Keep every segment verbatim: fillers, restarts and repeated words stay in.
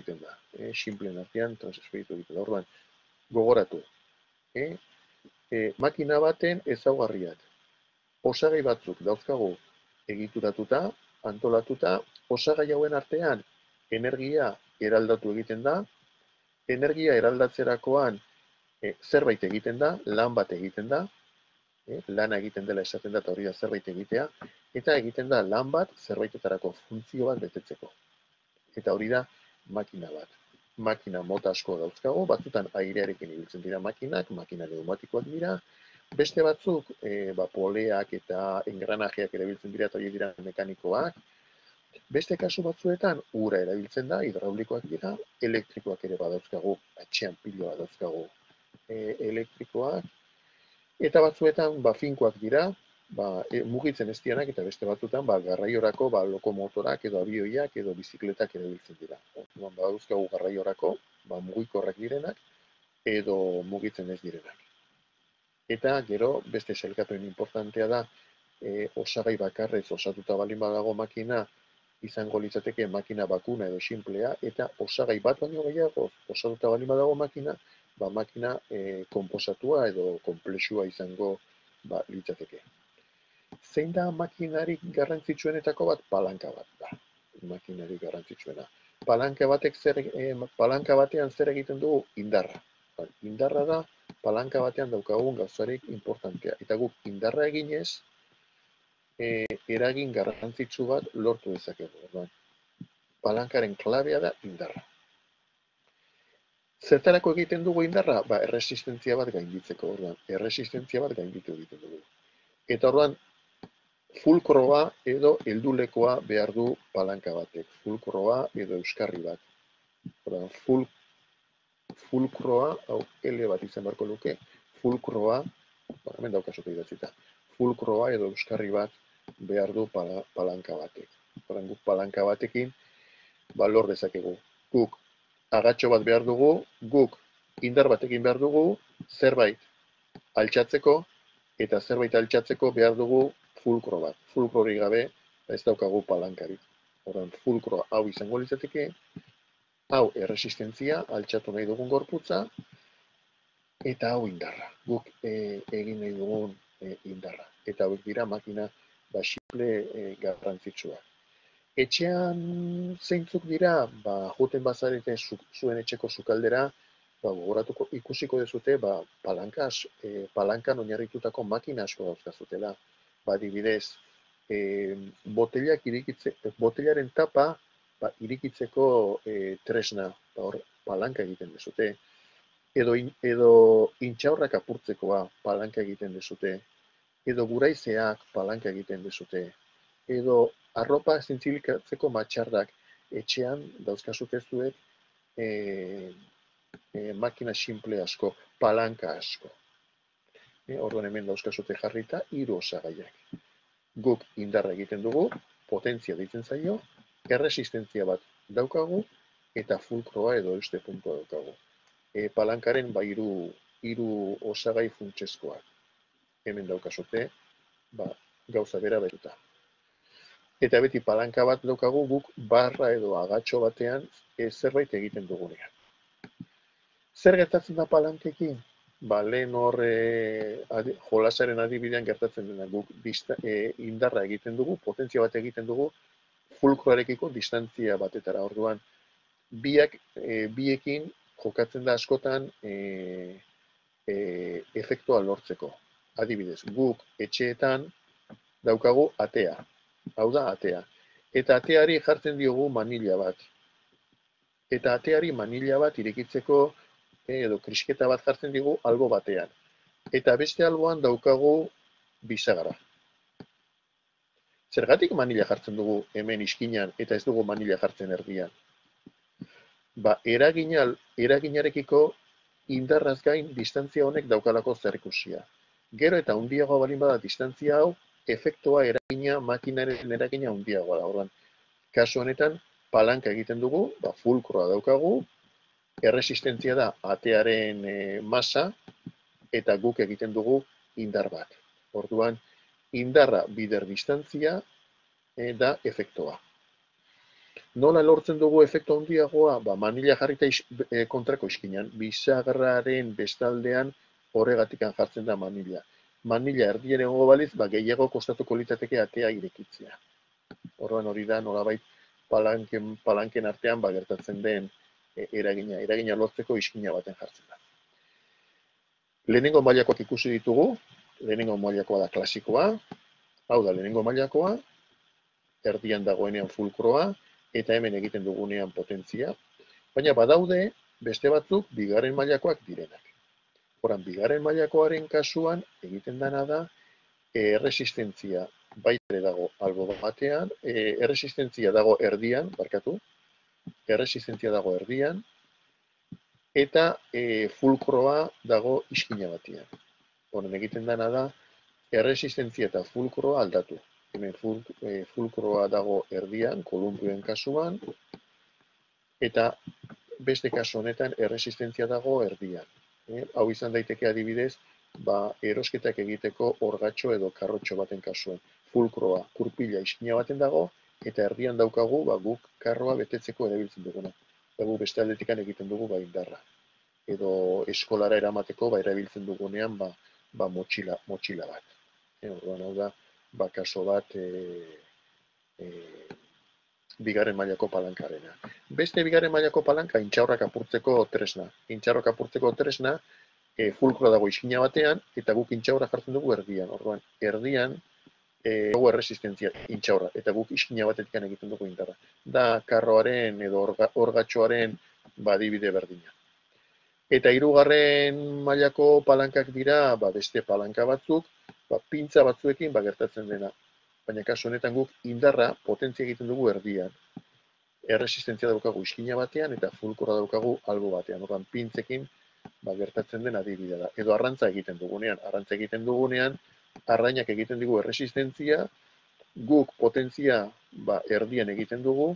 egiten da. E, Simpleen artean transferitu egiten da. Orduan, gogoratu. E, e, makina baten ezaugarriak. Osagai batzuk dauzkagu egituratuta, antolatuta, osagai hauen artean energia eraldatu egiten da, energia eraldatzerakoan e, zerbait egiten da, lan bat egiten da, e, lana egiten dela esaten da, eta hori da zerbait egitea, eta egiten da lan bat zerbaitetarako funtzio bat betetzeko. Eta hori da makina bat. Makina mota asko dauzkago, batzutan airearekin ibiltzen dira makinak, makina pneumatikoak dira, beste batzuk e, ba, poleak eta engranajeak erabiltzen dira eta horiek dira mekanikoak. Beste kasu batzuetan ura erabiltzen da, hidraulikoak dira, elektrikoak ere badauzkagu, atxean pilo badauzkagu e, elektrikoak, eta batzuetan ba, finkoak dira, ba, e, mugitzen ez dianak, eta beste batzuetan ba, garraiorako ba, lokomotorak edo abioiak edo bizikletak erabiltzen dira. Orduan badauzkagu garraiorako ba, mugikorrak direnak edo mugitzen ez direnak. Eta gero beste sailkapen importantea da, e, osagai bakarrez osatuta baldin badago makina, izango litzateke makina bakuna edo simplea, eta osagai bat baino gehiago osatuta baldin badago makina, ba, makina e, konposatua edo konplexua izango ba, litzateke. Zein da makinarik garrantzitsuenetako bat? Palanka bat da. Makinarik garrantzitsuena. Palanka batek zer, e, palanka batean zer egiten dugu? Indarra. Ba, indarra da palanka batean daukagun gauzarik importantea. Eta guk indarra eginez, e, eragin garrantzitsu bat lortu dezakegu. Orduan, palankaren klabea da indarra. Zertarako egiten dugu indarra? Ba, erresistentzia bat gainditzeko. Orduan, erresistentzia bat gainditu egiten dugu. Eta orduan, fulkroa edo heldulekoa behar du palanka batek. Fulkroa edo euskarri bat. Orduan, ful, fulkroa, hau L bat izan beharko luke, fulkroa, ba, hemen daukazute idatzita, fulkroa edo euskarri bat behar du pala, palanka batek. Orduan, guk palanka batekin, ba, lor dezakegu. Guk agatxo bat behar dugu, guk indar batekin behar dugu, zerbait altxatzeko, eta zerbait altxatzeko behar dugu fulkro bat. Fulkrori gabe ez daukagu palankarik. Orduan, fulkroa hau izango litzateke, hau erresistentzia, altxatu nahi dugun gorputza, eta hau indarra. Guk e, egin nahi dugun e, indarra. Eta hauek dira makina ba, simple e, garrantzitsua. Etxean zeintzuk dira, ba, juten bazarete zu, zuen etxeko sukaldera, ba, gogoratuko ikusiko dezute, ba, palankas, e, palankan oinarritutako makina asko dauzkazutela. Ba, adibidez, e, botelak irikitze, botelaren tapa, ba, irikitzeko e, tresna, ba, hor, palanka egiten dezute. Edo, in, edo intxaurrak apurtzekoa palanka egiten dezute. Edo guraizeak palanka egiten dezute. Edo arropa zintzilikatzeko matxardak etxean dauzkazute zuek e, e, makina simple asko, palanka asko. E, orduan hemen dauzkazute jarrita hiru osagaiak. Guk indarra egiten dugu, potentzia deitzen zaio, erresistentzia bat daukagu, eta fulkroa edo euste puntua daukagu. E, palankaren ba hiru hiru osagai funtsezkoak. Hemen daukazute, ba, gauza bera beruta. Eta beti palanka bat daukagu guk barra edo agatxo batean e, zerbait egiten dugunean. Zer gertatzen da palankekin? Ba, lehen hor e, adi, jolasaren adibidean gertatzen dena guk dista, e, indarra egiten dugu, potentzia bat egiten dugu, fulkroarekiko distantzia batetara. Orduan, biak, e, biekin jokatzen da askotan e, e, efektua lortzeko. Adibidez, guk etxeetan daukagu atea. Hau da, atea. Eta ateari jartzen diogu manila bat. Eta ateari manila bat irekitzeko edo krisketa bat jartzen digu albo batean. Eta beste alboan daukagu bisagra. Zergatik manila jartzen dugu hemen iskinan eta ez dugu manila jartzen erdian? Ba, eragina, eraginarekiko indarraz gain distantzia honek daukalako zerikusia. Gero eta handiagoa balin bada distantzia hau, efektua eragina, makinaren eragina handiagoa da. Orduan, kasu honetan, palanka egiten dugu, ba, fulkroa daukagu, erresistentzia da atearen e, masa, eta guk egiten dugu indar bat. Orduan, indarra bider distantzia e, da efektua. Nola lortzen dugu efektu handiagoa? Ba, manila jarrita is, e, kontrako iskinan, bisagraren bestaldean horregatikan jartzen da manila. Manila erdien egongo baliz, ba, gehiago kostatuko litzateke atea irekitzea. Orduan hori da, nolabait palanken, palanken artean ba, gertatzen den e, eragina, eragina lortzeko iskina baten jartzen da. Lehenengo mailakoak ikusi ditugu, lehenengo mailakoa da klasikoa, hau da lehenengo mailakoa, erdian dagoenean fulkroa, eta hemen egiten dugunean potentzia, baina badaude beste batzuk bigarren mailakoak direnak. Horan, bigarren mailakoaren kasuan egiten dena da erresistentzia baita dago albo batean, e, erresistentzia dago erdian, barkatu, erresistentzia dago erdian, eta e, fulkroa dago iskina batean. Horan, egiten dena da erresistentzia eta fulkroa aldatu. Hemen ful, e, fulkroa dago erdian, kolumpioen kasuan, eta beste kasu honetan erresistentzia dago erdian. E, hau izan daiteke adibidez, ba, erosketak egiteko orgatxo edo karrotxo baten kasuan. Fulkroa, kurpila iskina baten dago, eta erdian daukagu ba, guk karroa betetzeko erabiltzen duguna. Eta gu beste aldetikan egiten dugu ba, indarra. Edo eskolara eramateko ba, erabiltzen dugunean ba, ba, motxila, motxila bat. E, orduan hau da, ba, kaso bat e, e, bigarren mailako palankarena. Beste bigarren mailako palanka intxaurrak apurtzeko tresna. Intxaurrak apurtzeko tresna e, fulkroa dago iskina batean, eta guk intxaurra jartzen dugu erdian. Orduan, erdian e, dago erresistentzia intxaurra, eta guk iskina batetik egiten dugu indarra. Da karroaren edo orga, orgatxoaren badibide berdina. Eta hirugarren mailako palankak dira ba, beste palanka batzuk, ba, pintza batzuekin ba, gertatzen dena. Baina kasu honetan guk indarra potentzia egiten dugu erdian. Erresistentzia daukagu iskina batean eta fulkora daukagu albo batean. Orduan pintzekin ba, gertatzen den adibidea da. Edo arrantza egiten dugunean. Arrantza egiten dugunean, arrainak egiten dugu erresistentzia, guk potentzia ba, erdian egiten dugu,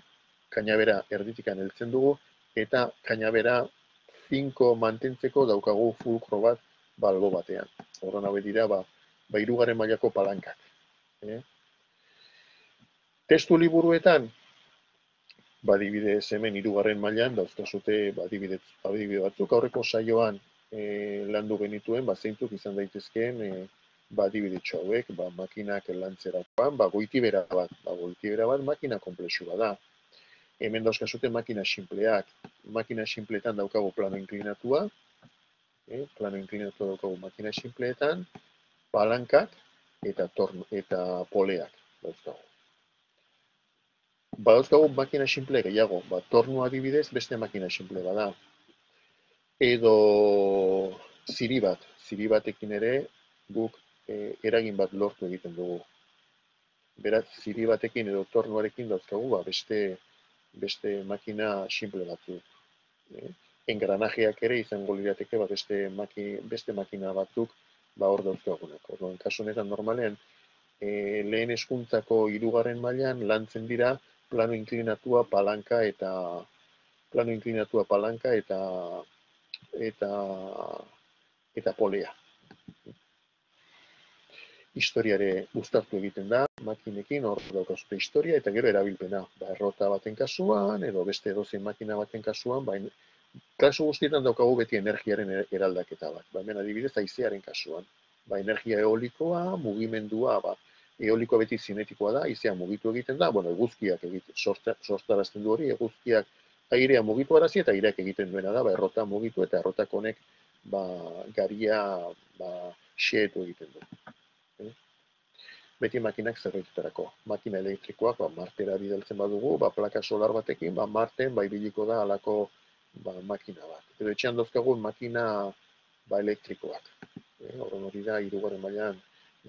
kainabera erditikan heltzen dugu, eta kainabera finko mantentzeko daukagu fulkro bat ba, albo batean. Orduan hauek dira ba, ba hirugarren mailako palankak. Eh? Testu liburuetan, badibidez hemen hirugarren mailan dauzkazute badibide, badibide batzuk, aurreko saioan e, landu genituen, ba, zeintzuk izan daitezkeen e, badibidetxo hauek, ba, makinak lantzerakoan, ba, goitibera bat, ba, goitibera bat makina konplexua da. Hemen dauzkazute makina simpleak, makina simpleetan daukagu plano inklinatua, e, plano inklinatua daukagu makina simpleetan, palankak eta, torno, eta poleak dauzkagu. Badauzkagu makina simple gehiago, ba, tornu adibidez beste makina simple bada. Edo ziri bat, ziri batekin ere guk e, eragin bat lortu egiten dugu. Beraz, ziri batekin edo tornuarekin dauzkagu ba, beste, beste makina simple batzuk. E, engranajeak ere izango lirateke ba, beste, maki, beste makina batzuk ba, hor dauzkagunak. Orduan, kasu honetan normalean, e, lehen hezkuntzako hirugarren mailan lantzen dira plano inklinatua palanka eta plano inklinatua palanka eta eta eta polea. Historiare uztartu egiten da makinekin, hor daukazute historia eta gero erabilpena, ba errota baten kasuan edo beste edozein makina baten kasuan, ba kasu guztietan daukagu beti energiaren eraldaketa bat. Ba hemen adibidez haizearen kasuan, ba energia eolikoa, mugimendua, ba eolikoa beti zinetikoa da, haizea mugitu egiten da, bueno, eguzkiak egiten, sortarazten du hori, eguzkiak airea mugitu arazi eta aireak egiten duena da, ba, errota mugitu eta errotak honek ba, garia ba, xeetu egiten du. Eh? Beti makinak zerbaitetarako. Makina elektrikoak, ba, martera bidaltzen badugu, ba, plaka solar batekin, ba, marten ba, ibiliko da alako ba, makina bat. Edo etxean dauzkagu makina ba, elektrikoak. Eh? Horren hori da, hirugarren mailan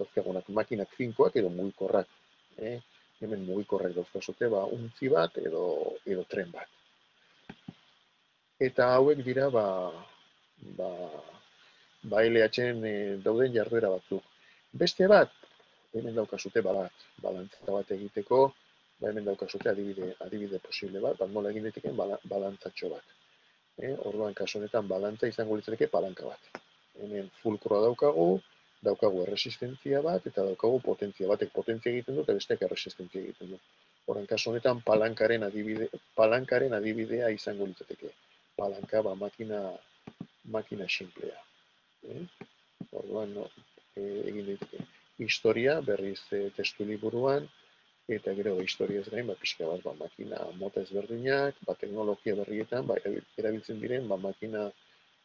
dauzkagunak makinak finkoak edo mugikorrak. Eh? Hemen mugikorrak dauzkazute, ba, untzi bat edo, edo tren bat. Eta hauek dira, ba, ba, ba L H-en e, dauden jarduera batzuk. Beste bat, hemen daukazute bat, balantzata bat egiteko, ba, hemen daukazute adibide, adibide posible bat, bat nola egin daiteken balantzatxo bat. Eh? Orduan, kasu honetan, balantza izango litzateke palanka bat. Hemen fulkroa daukagu, daukagu erresistentzia bat, eta daukagu potentzia batek potentzia egiten du, eta besteak erresistentzia egiten du. Horren kasu honetan palankaren adibide, palankaren adibidea izango litzateke. Palanka ba makina makina sinplea. Eh? Orduan no, e, egin daiteke. Historia berriz e, testu liburuan eta gero historiaz gain ba pixka bat ba makina mota ezberdinak, ba teknologia berrietan ba erabiltzen diren ba makina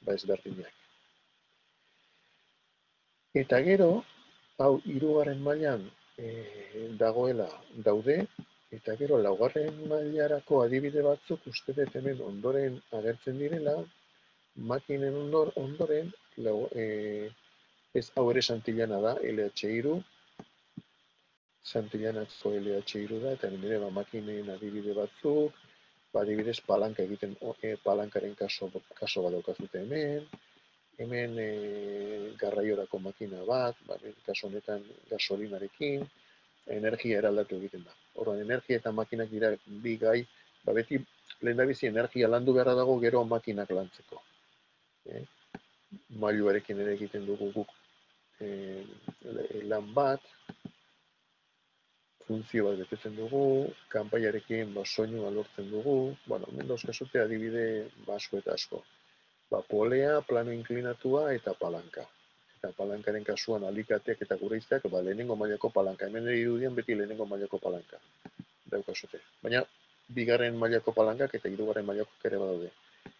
ba ezberdinak. Eta gero hau hirugarren mailan e, dagoela daude. Eta gero, laugarren mailarako adibide batzuk uste dut hemen ondoren agertzen direla, makinen ondor, ondoren, lau, e, ez hau ere Santillana da, L H hiru, Santillanako L H hiru da, eta nire ba, makinen adibide batzuk, ba, adibidez palanka egiten, e, palankaren kaso, kaso bat daukazute hemen, hemen e, garraiorako makina bat, ba, kaso honetan gasolinarekin, energia eraldatu egiten da. Orduan, energia eta makinak dira bi gai, ba beti lehendabizi energia landu beharra dago gero makinak lantzeko. Eh? Mailuarekin ere egiten dugu guk eh, lan bat, funtzio bat betetzen dugu, kanpaiarekin ba, soinua lortzen dugu, bueno, hemen dauzkazute adibide ba, asko eta asko. Ba, polea, plano inklinatua eta palanka. Eta palankaren kasuan alikateak eta gureizteak, ba, lehenengo mailako palanka. Hemen irudien beti lehenengo mailako palanka daukazute. Baina, bigarren mailako palankak eta hirugarren mailako ere badaude.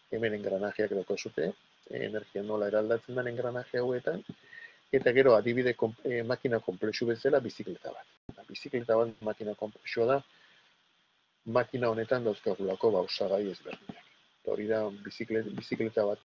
Hemen engranajeak daukazute, energia nola eraldatzen den engranaje hauetan, eta gero adibide e, makina komplexu bezala bizikleta bat. Bizikleta bat makina komplexua da, makina honetan dauzkagulako ba, osagai ezberdinak. Hori da bizikleta bat